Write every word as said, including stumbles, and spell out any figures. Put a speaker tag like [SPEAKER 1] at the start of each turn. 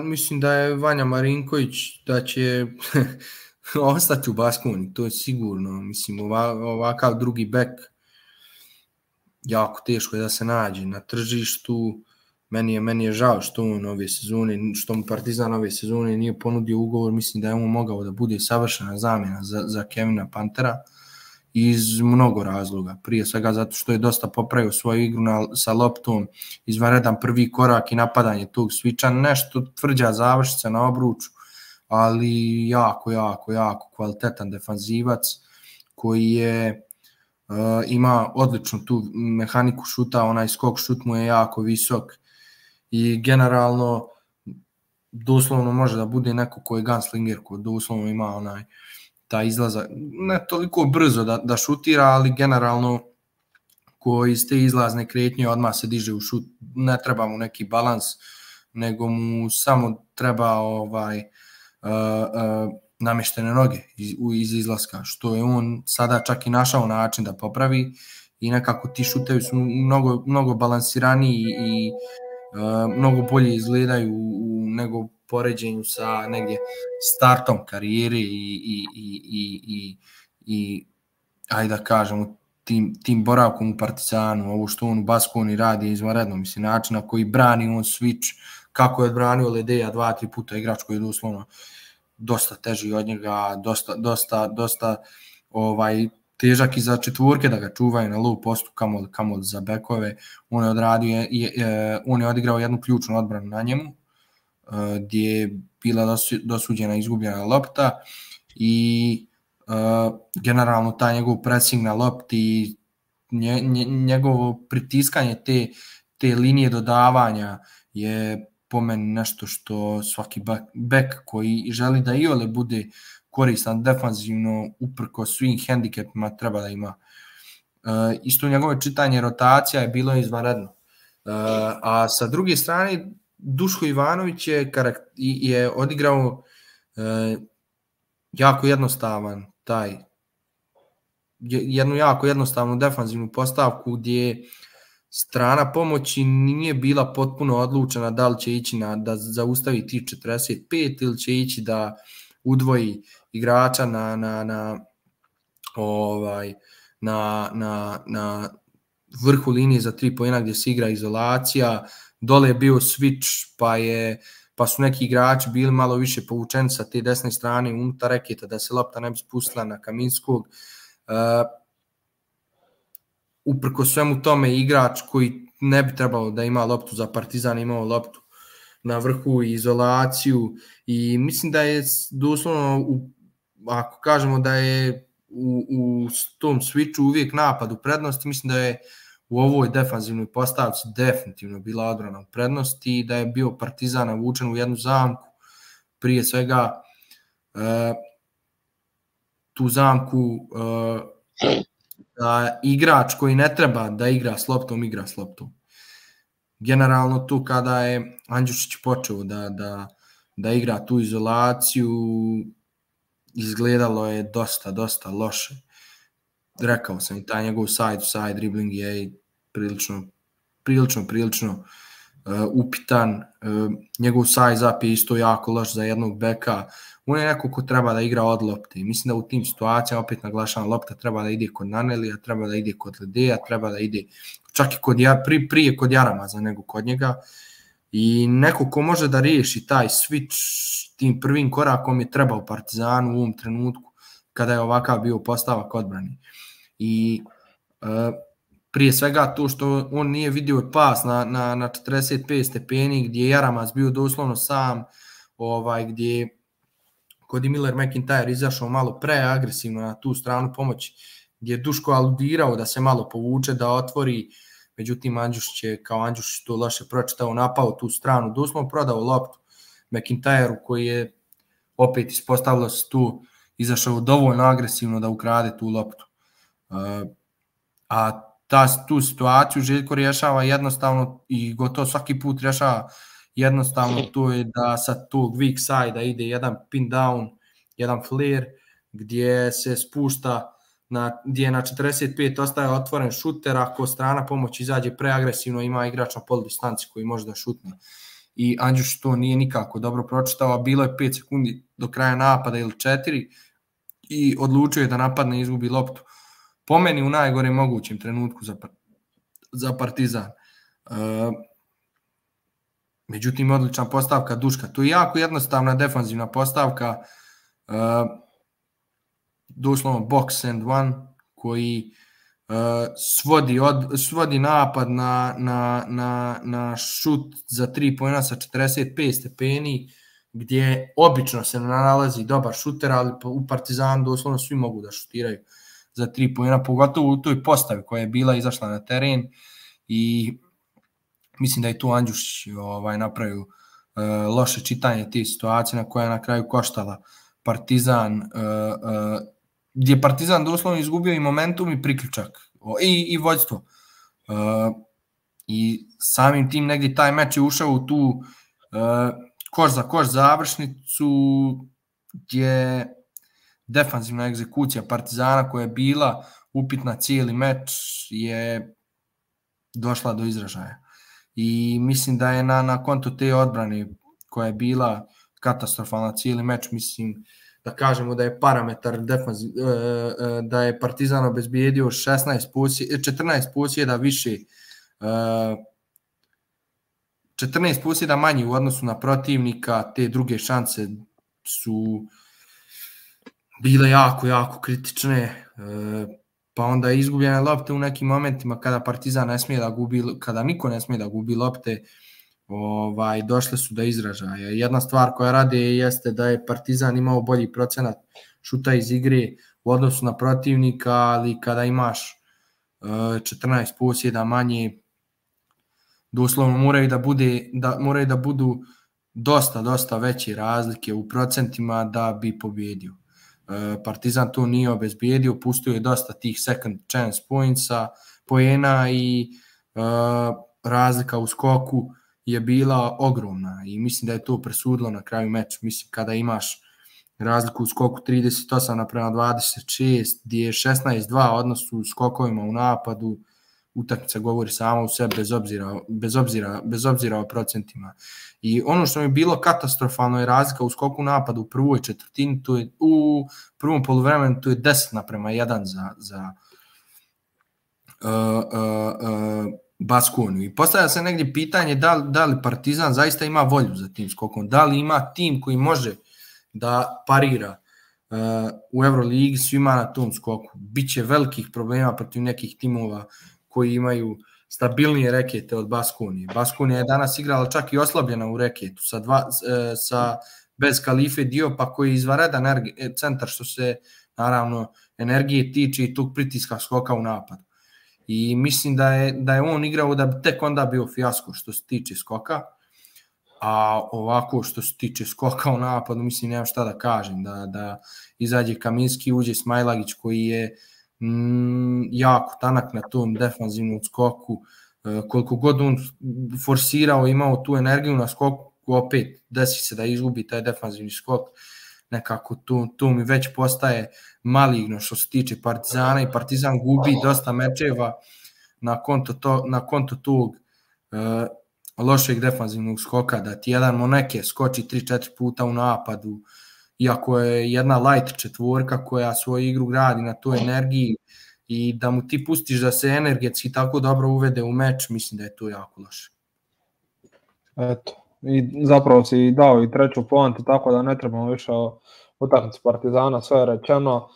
[SPEAKER 1] Mislim da je Vanja Marinković da će ostati u Baskoni, to je sigurno. Mislim, ova, ovakav drugi bek jako teško je da se nađe na tržištu. Meni je, meni je žao što on ove sezone, što mu Partizan ove sezone nije ponudio ugovor. Mislim da je on mogao da bude savršena zamjena za, za Kevina Pantera iz mnogo razloga. Prije svega zato što je dosta popravio svoju igru na, sa loptom, izvanredan prvi korak i napadanje tog sviča, nešto tvrđa završica na obruču, ali jako, jako, jako kvalitetan defanzivac koji je uh, ima odličnu tu mehaniku šuta, onaj skok šut mu je jako visok i generalno doslovno može da bude neko ko je gunslinger, ko doslovno ima onaj ta izlaza, ne toliko brzo da, da šutira, ali generalno ko iz te izlazne kretnje odmah se diže u šut, ne treba mu neki balans, nego mu samo treba ovaj uh, uh, namještene noge iz, iz izlaska, što je on sada čak i našao način da popravi i nekako ti šutevi su mnogo, mnogo balansiraniji i uh, mnogo bolje izgledaju u, nego poređenju sa negdje startom karijere i, i, i, i, i, i ajde da kažemo tim, tim boravkom u Partizanu, ovo što on u Baskoni radi je izvanredno, mislim, način na koji brani on switch, kako je odbranio Ledeja dva, tri puta, igrač koji je doslovno dosta teži od njega, dosta, dosta, dosta ovaj, težak i za četvorke da ga čuvaju na low postu, kamol, kamol za bekove, on je, odradio, je, je, on je odigrao jednu ključnu odbranu na njemu, gdje je bila dosuđena izgubljena lopta i uh, generalno taj njegov pressing na lopti i nje, nje, njegovo pritiskanje te, te linije dodavanja je po meni nešto što svaki bek koji želi da iole bude koristan defanzivno uprko svim hendikepima treba da ima. Uh, isto njegove čitanje rotacija je bilo izvanredno. Uh, a sa druge strane Duško Ivanović je, je odigrao e, jako jednostavan taj, jednu jako jednostavnu defanzivnu postavku gdje strana pomoći nije bila potpuno odlučena da li će ići na, da zaustavi tih četrdeset pet ili će ići da udvoji igrača na, na, na, ovaj, na, na, na vrhu linije za tri poena gdje se igra izolacija. Dole je bio switch, pa, je, pa su neki igrači bili malo više povučeni sa te desne strane unutar reketa, da se lopta ne bi spustila na Kaminskog. Uh, uprko svemu tome igrač koji ne bi trebalo da ima loptu za Partizan, imao loptu na vrhu i izolaciju i mislim da je doslovno, u, ako kažemo da je u, u tom switchu uvijek napad u prednosti, mislim da je u ovoj defanzivnoj postavci definitivno bila odbrana u prednosti i da je bio Partizan navučen u jednu zamku. Prije svega e, tu zamku e, da igrač koji ne treba da igra s loptom, igra s loptom. Generalno tu kada je Andjušić počeo da, da, da igra tu izolaciju, izgledalo je dosta, dosta loše. Rekao sam i taj njegov side-to-side dribbling je prilično, prilično, prilično uh, upitan. Uh, njegov size-up je isto jako loš za jednog beka. On je neko ko treba da igra od lopte. I mislim da u tim situacijama, opet naglašavam, lopta treba da ide kod Nanelija, treba da ide kod Ledeja, treba da ide čak i kod, pri, prije kod Jaramaza nego kod njega. I neko ko može da riješi taj switch tim prvim korakom je trebao Partizanu u ovom trenutku kada je ovakav bio postavak odbrani. I uh, prije svega to što on nije vidio pas na, na, na četrdeset pet stepeni gdje je Jaramaz bio doslovno sam, ovaj, gdje kod je Miller McIntyre izašao malo preagresivno na tu stranu pomoći, gdje je Duško aludirao da se malo povuče, da otvori, međutim Andjušić je kao Andjušić to loše pročitao, napao tu stranu, doslovno prodao loptu McIntyre-u koji je opet ispostavilo se tu, izašao dovoljno agresivno da ukrade tu loptu. Uh, a ta, tu situaciju Željko rješava jednostavno i gotovo svaki put rješava jednostavno, to je da sa tog weak side-a ide jedan pin down, jedan flare, gdje se spušta, na, gdje na četrdeset pet ostaje otvoren šuter, ako strana pomoć izađe preagresivno, ima igrač na polu distanci koji može da šutne. i Andjušić to nije nikako dobro pročitao, a bilo je pet sekundi do kraja napada ili četiri i odlučio je da napadne i izgubi loptu. Po meni u najgorem mogućem trenutku za, za Partizan. Uh, međutim, odlična postavka Duška. To je jako jednostavna defanzivna postavka, uh, doslovno box and one, koji uh, svodi, od, svodi napad na, na, na, na šut za tri poena sa četrdeset pet stepeni, gdje obično se nalazi dobar šuter, ali u Partizanu doslovno svi mogu da šutiraju za tri poena, pogotovo u toj postavi koja je bila izašla na teren i mislim da je tu Andjušić ovaj, napravio uh, loše čitanje te situacije na koja je na kraju koštala Partizan, uh, uh, gdje je Partizan doslovno izgubio i momentum i priključak i, i vođstvo. Uh, I samim tim negdje taj meč je ušao u tu uh, koš za koš završnicu gdje defanzivna egzekucija Partizana koja je bila upitna cijeli meč je došla do izražaja. I mislim da je na, na konto te odbrane koja je bila katastrofalna cijeli meč, mislim da kažemo da je parametar defanziv, da je Partizan obezbijedio šesnaest posjeda, četrnaest posjeda više, četrnaest posjeda manje u odnosu na protivnika, te druge šanse su bile jako, jako kritične, pa onda izgubljene lopte u nekim momentima kada Partizan ne smije da gubi, kada niko ne smije da gubi lopte, ovaj, došle su do izražaja. Jedna stvar koja rade jeste da je Partizan imao bolji procenat šuta iz igre u odnosu na protivnika, ali kada imaš četrnaest posjeda manje, doslovno moraju da, bude, da, moraju da budu dosta, dosta veće razlike u procentima da bi pobjedio. Partizan to nije obezbijedio, pustio je dosta tih second chance pointsa, poena i uh, razlika u skoku je bila ogromna i mislim da je to presudilo na kraju meč. Mislim kada imaš razliku u skoku trideset osam naprema dvadeset šest, gdje je šesnaest dva odnos u skokovima u napadu, utakmica govori sama u sebi bez obzira, bez obzira, bez obzira o procentima. I ono što mi je bilo katastrofalno je razlika u skoku napada u prvoj četvrtini, to je u prvom poluvremenu to je deset naprema jedan za, za uh, uh, uh, Baskoniju. I postavlja se negdje pitanje da li, da li Partizan zaista ima volju za tim skokom, da li ima tim koji može da parira uh, u Euroligi svima na tom skoku. Biće velikih problema protiv nekih timova koji imaju stabilnije rekete od Baskonije. Baskonija je danas igrala čak i oslabljena u reketu, sa, dva, sa bez Kalife Diopa koji je izvanredan centar što se naravno energije tiče i tog pritiska skoka u napadu. I mislim da je, da je on igrao da bi tek onda bio fijasko što se tiče skoka, a ovako što se tiče skoka u napadu, mislim nemam šta da kažem, da, da izađe Kaminski, uđe Smajlagić koji je mm, jako tanak na tom defanzivnom skoku, e, koliko god on forsirao, imao tu energiju na skoku, opet desi se da izgubi taj defanzivni skok, nekako to, to mi već postaje maligno što se tiče Partizana i Partizan gubi dosta mečeva na konto, to, na konto tog e, lošeg defanzivnog skoka, da ti jedan Moneke skoči tri četiri puta u napadu, iako je jedna light četvorka koja svoju igru gradi na toj energiji i da mu ti pustiš da se energetski tako dobro uvede u meč, mislim da je to jako loše.
[SPEAKER 2] Eto, i zapravo si dao i treću poantu, tako da ne trebamo više o utakmici Partizana, sve je rečeno.